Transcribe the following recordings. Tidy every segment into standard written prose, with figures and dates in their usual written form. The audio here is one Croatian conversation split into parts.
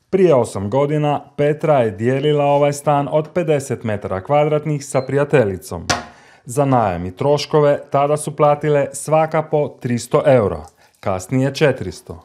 Prije 8 godina Petra je dijelila ovaj stan od 50 metara kvadratnih sa prijateljicom. Za najam i troškove tada su platile svaka po 300 eura, kasnije 400.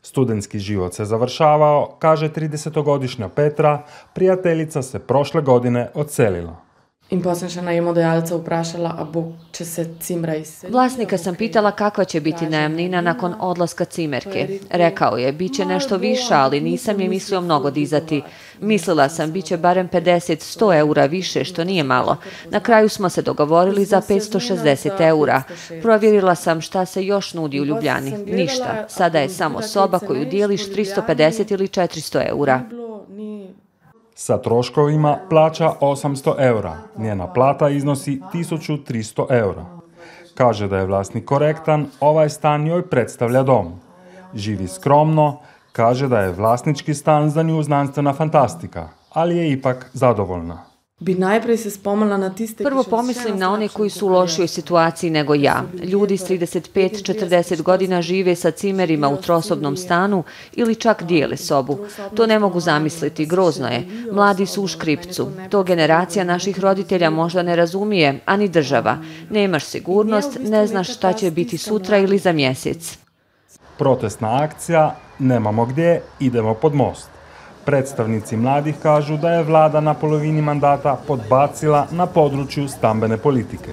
Studentski život se završavao, kaže 30-godišnja Petra, prijateljica se prošle godine odselila. In potem še najemodajalca vprašala, a bo, če se cimra izseli. Vlasnika sam pitala kakva će biti najamnina nakon odlaska cimerke. Rekao je, bit će nešto više, ali nisam je mislio mnogo dizati. Mislila sam, bit će barem 50-100 eura više, što nije malo. Na kraju smo se dogovorili za 560 eura. Provjerila sam šta se još nudi u Ljubljani. Ništa. Sada je samo soba koju dijeliš 350 ili 400 eura. Sa troškovima plaća 800 eura. Njena plata iznosi 1300 eura. Kaže da je vlasnik korektan, ovaj stan njoj predstavlja dom. Živi skromno, kaže da je vlasnički stan za nju znanstvena fantastika, ali je ipak zadovoljna. Bi najprej se spomnila na tiste... Prvo pomislim na one koji su u lošijoj situaciji nego ja. Ljudi s 35-40 godina žive sa cimerima u trosobnom stanu ili čak dijele sobu. To ne mogu zamisliti, grozno je. Mladi su u škripcu. To generacija naših roditelja možda ne razumije, a ni država. Nemaš sigurnost, ne znaš šta će biti sutra ili za mjesec. Protestna akcija, nemamo gdje, idemo pod most. Predstavnici mladih kažu da je vlada na polovini mandata podbacila na području stambene politike.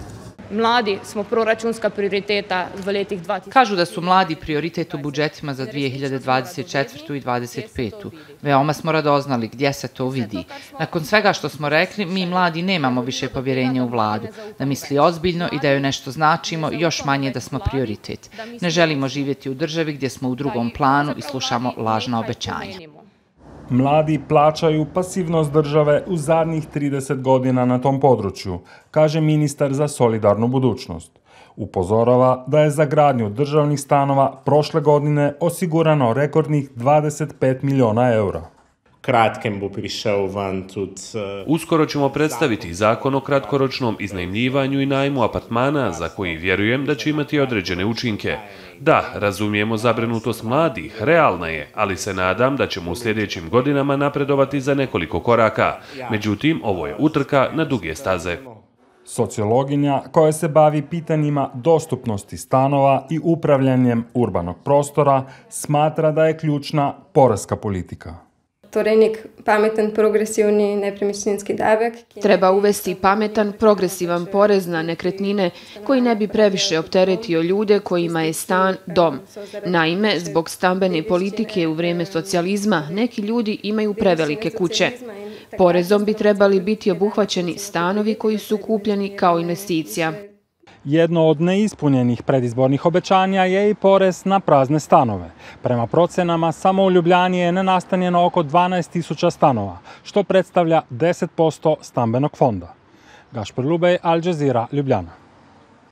Mladi smo proračunska prioriteta v letih 2000. Kažu da su mladi prioritet u budžetima za 2024. i 2025. Veoma smo radoznali gdje se to vidi. Nakon svega što smo rekli, mi mladi nemamo više povjerenja u vladu, da misli ozbiljno i da joj nešto značimo, još manje da smo prioritet. Ne želimo živjeti u državi gdje smo u drugom planu i slušamo lažna obećanja. Mladi plaćaju pasivnost države u zadnjih 30 godina na tom području, kaže ministar za solidarnu budućnost. Upozorava da je za gradnju državnih stanova prošle godine osigurano rekordnih 25 milijuna eura. Uskoro ćemo predstaviti zakon o kratkoročnom iznajmljivanju i najmu apartmana za koji vjerujem da će imati određene učinke. Da, razumijemo zabrinutost mladih, realna je, ali se nadam da ćemo u sljedećim godinama napredovati za nekoliko koraka. Međutim, ovo je utrka na duge staze. Sociologinja koja se bavi pitanjima dostupnosti stanova i upravljanjem urbanog prostora smatra da je ključna poreska politika. Torej nek pametan progresivni nepremičninski davek. Treba uvesti pametan progresivan porez na nekretnine koji ne bi previše opteretio ljude kojima je stan dom. Naime, zbog stambene politike u vrijeme socijalizma neki ljudi imaju prevelike kuće. Porezom bi trebali biti obuhvaćeni stanovi koji su kupljeni kao investicija. Jedno od neispunjenih predizbornih obećanja je i porez na prazne stanove. Prema procenama, samo u Ljubljani je nenastanjeno oko 12.000 stanova, što predstavlja 10% stambenog fonda. Gašper Lubej, Al Jazeera, Ljubljana.